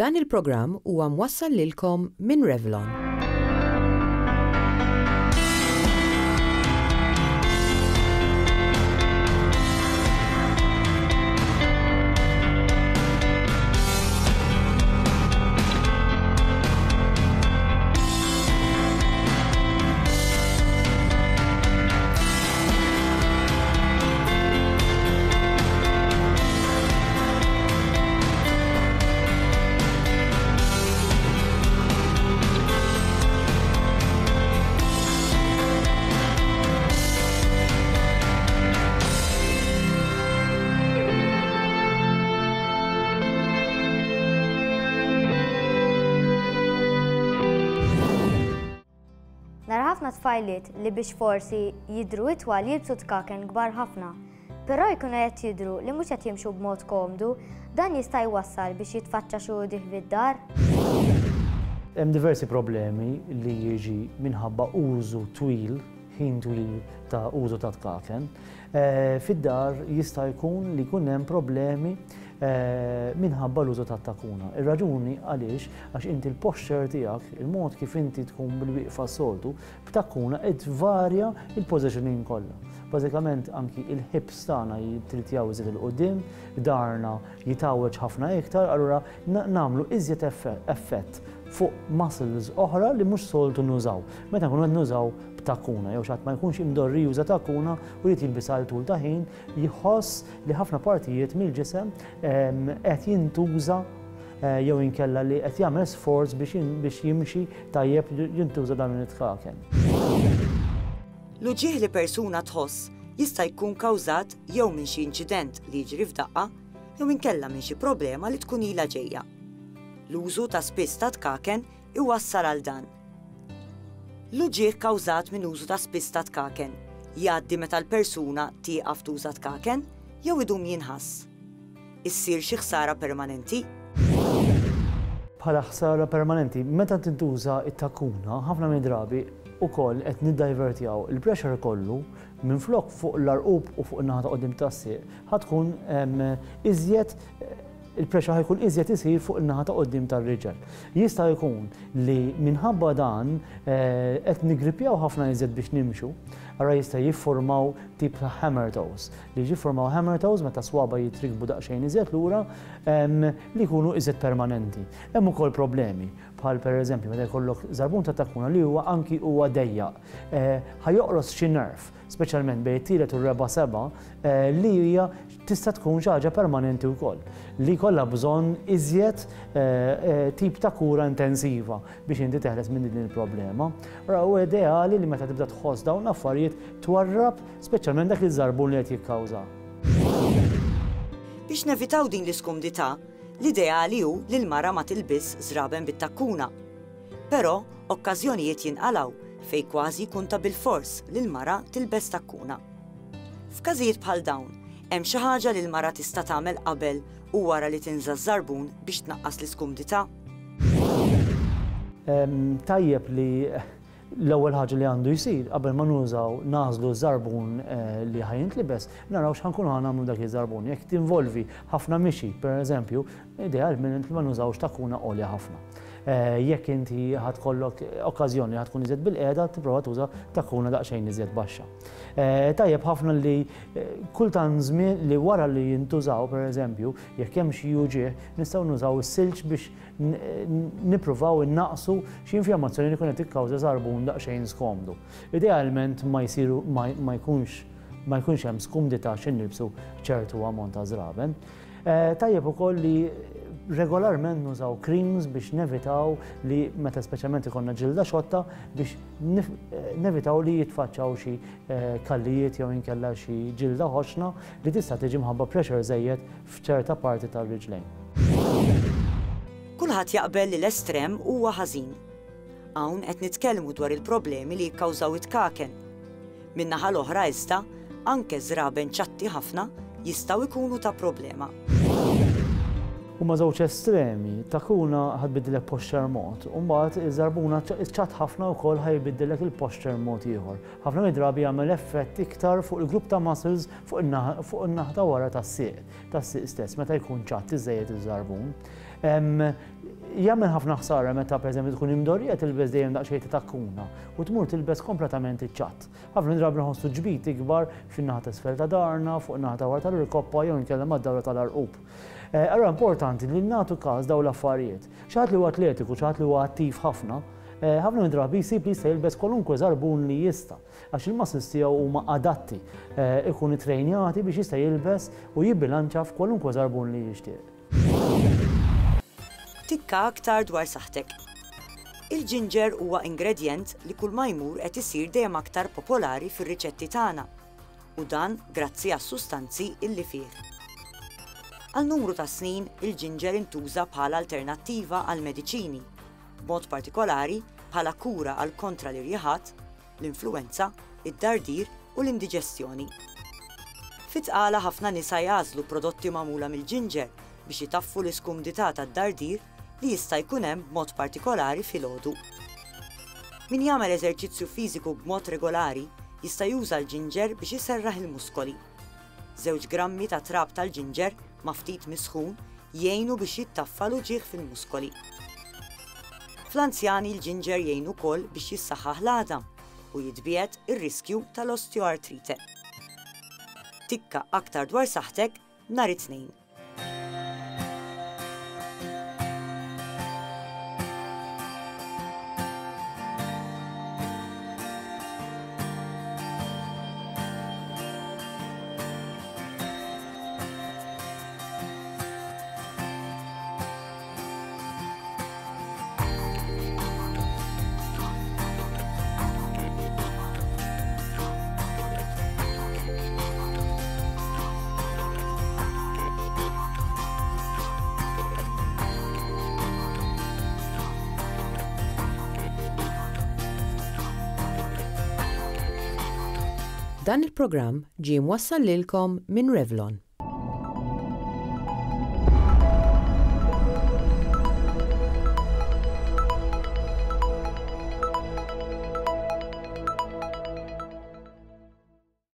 Dan il-programm huwa mwassal lilkom minn Revlon. Nara ħafna tfajliet li biex forsi jidhru itwal jilbsu tkaken kbar ħafna. Però jkunu qed jidhru li mhux qed jimxu b'mod komdu, dan jista' jwassal biex jitfaċċa xi uġigħ fid-dar. Hemm diversi problemi li jiġi minħabba użu twil, ħin twil ta' użu ta' tkaken. Fid-dar jista' jkun li jkun hemm problemi minħabba l-użu tat-takuna. Ir-raġuni għaliex għax inti l-posture tiegħek, il-mod kif inti tkun bil-wieqfa s-soltu, b'takuna qed tvarja l-positioning kollha. Bażikament anki il-hips tagħna jittiltjaw iżjed 'il quddiem, darna jitgħawweġ ħafna iktar, allura nagħmlu iżjed effett fuq muscles oħra li mhux soltu nużaw. Meta nkunu qed nużaw b'takuna jew xi ħadd ma jkunx imdorri juża takuna u jrid jilbisha għal tul ta' ħin, jħoss li ħafna partijiet mill-ġisem qed jintuża jew inkella li qed jagħmel sforz biex jimxi tajjeb jintuża dan it-tkaken. L-uġigħ li persuna tħoss jista' jkun kawżat jew minn xi inċident li jiġri f'daqqa jew inkella minn xi problema li tkun ilha ġejja. L-użu ta' spiss ta' tkaken iwassal għal dan. L-uġigħ kkawżat minn użu ta' spiss ta' tkaken jgħaddi meta l-persuna tieqaf tuża tkaken jew idum jinħass. Issir xi ħsara permanenti? Bħala ħsara permanenti, meta tintuża t-takuna, ħafna mid-drabi ukoll qed niddajvertjaw il-pressure kollu minflok fuq l-għarqub u fuq in-naħa ta' quddiem tas-sieq, ħa tkun iżjed il-pressure ħa jkun iżjed isir fuq in-naħa ta' quddiem tar-riġel. Jista' jkun li minħabba dan qed nigrippjaw ħafna iżjed biex nimxu, allura jista' jiffurmaw tip ta' hammer toes, li jiffurmaw hammer toes meta swaba' jitrikbu daqsxejn iżjed lura li jkunu iżjed permanenti. Hemm ukoll problemi bħal pereżempju meta jkollok żarbun ta' takuna li huwa anki huwa dejjaq, ħa joqros xi nerve speċjalment bejn it-tielet u r-reba' seba', li hija tista' tkun xi ħaġa permanenti wkoll, li jkollha bżonn iżjed tip ta' kura intensiva biex inti teħles minn din il-problema. Allura huwa ideali li meta tibda tħoss dawn l-affarijiet twarrab speċjalment dak iż-żarbun li qed jikkawża. Biex nevitaw din l-iskumdità, l-ideali hu li l-mara ma tilbisx żraben bit-takkuna. Però, okkażjonijiet jinqalgħu fejn kważi jkun ta' bilfors li l-mara tilbes takkuna. F'każijiet bħal dawn, hemm xi ħaġa li l-mara tista' tagħmel qabel u wara li tinża' ż-żarbun biex tnaqqas l-iskumdità? Tajjeb li l-ewwel ħaġa li għandu jsir qabel ma nużaw nagħżlu ż-żarbun li ħa jintlibes, naraw x'ħa nkunu ħa nagħmlu dak iż-żarbun. Jekk tinvolvi ħafna mixi, pereżempju, idealment li ma nużawx takkuna għolja ħafna. Jekk inti ħa tkollok okkażjoni li ħa tkun iżjed bilqiegħda, tipprova tuża takkuna daqsxejn iżjed baxxa. Tajjeb ħafna li kultant żmien li wara li jintużaw, pereżempju, jekk hemm xi uġigħ, nistgħu nużaw is-silġ biex nippruvaw innaqqsu xi infjammazzjoni li jkun qed tikkawża żarbun daqsxejn skomdu. Idealment ma jsiru ma jkunx ma jkunx hemm skumdità xi nilbsu ċertu ammont ta' żraben. Tajjeb ukoll li regolarment nużaw creams biex nevitaw li meta speċjalment ikollna ġilda xotta biex nevitaw li jitfaċċaw xi kallijiet jew inkella xi ġilda ħoxna li tista' tiġi mħabba pressure żejjed f'ċerta parti tar-riġlejn. Kulħadd jaqbel li l-estrem huwa ħażin. Hawn qed nitkellmu dwar il-problemi li jikkawżaw it-tkaken. Min-naħa l-oħra iżda, anke żraben ċatti ħafna jistgħu jkunu ta' problema. Huma żewġ estremi, takuna ħa tbiddillek posture mod, u mbagħad iż-żarbuna ċatt ħafna wkoll ħa jbiddillek il-posture mod ieħor. Ħafna mid-drabi jagħmel effett iktar fuq il-grupp ta' muscles fuq in-naħa ta' wara tas-sieq, tas-sieq stess, meta jkun ċatt iżżejjed iż-żarbun. Jagħmel ħafna ħsara meta pereżempju tkun imdorrija tilbes dejjem daqsxejn ta' takkuna u tmur tilbes kompletament iċ-ċatt. Ħafna drabi nħossu ġbid ikbar fin-naħa t'isfel ta' darna, fuq in-naħa ta' wara tal-irkoppa jew inkella mad-dawra tal-għarqub. Allura importanti li nagħtu każ dawn l-affarijiet. Xi ħadd li huwa atletiku, xi ħadd li huwa attiv ħafna, ħafna mid-drabi jsib li jista' jilbes kwalunkwe żarbun li jista' għax il-muscles tiegħu huma adatti, ikun ittrejnjati biex jista' jilbes u jibbilanċa f'kwalunkwe żarbun li jixtieq. Tikka aktar dwar saħħtek. Il-ġinġer huwa ingredjent li kull ma jmur qed isir dejjem aktar popolari fir-riċetti tagħna u dan grazzi għas-sustanzi illi fih. Għal numru ta' snin il-ġinġer intuża bħala alternattiva għall-mediċini, b'mod partikolari bħala kura għal kontra l-irjiħat, l-influwenza, id-dardir u l-indiġestjoni. Fit-tqala ħafna nisa jagħżlu prodotti magħmula mill-ġinġer biex itaffu l-iskumdità tad-dardir li jista' jkun hemm b'mod partikolari filgħodu. Min jagħmel eżerċizzju fiżiku b'mod regolari jista' juża l-ġinġer biex iserraħ il-muskoli. Żewġ grammi ta' trab tal-ġinġer ma' ftit misħun jgħinu biex jittaffa l-uġigħ fil-muskoli. Fl-anzjani l-ġinġer jgħin ukoll biex jissaħħaħ l-għadam u jitbiegħed ir-riskju tal-osteoartrite. Tikka aktar dwar saħħtek nhar it-Tnejn. Dan il-programm ġie mwassal lilkom minn Revlon.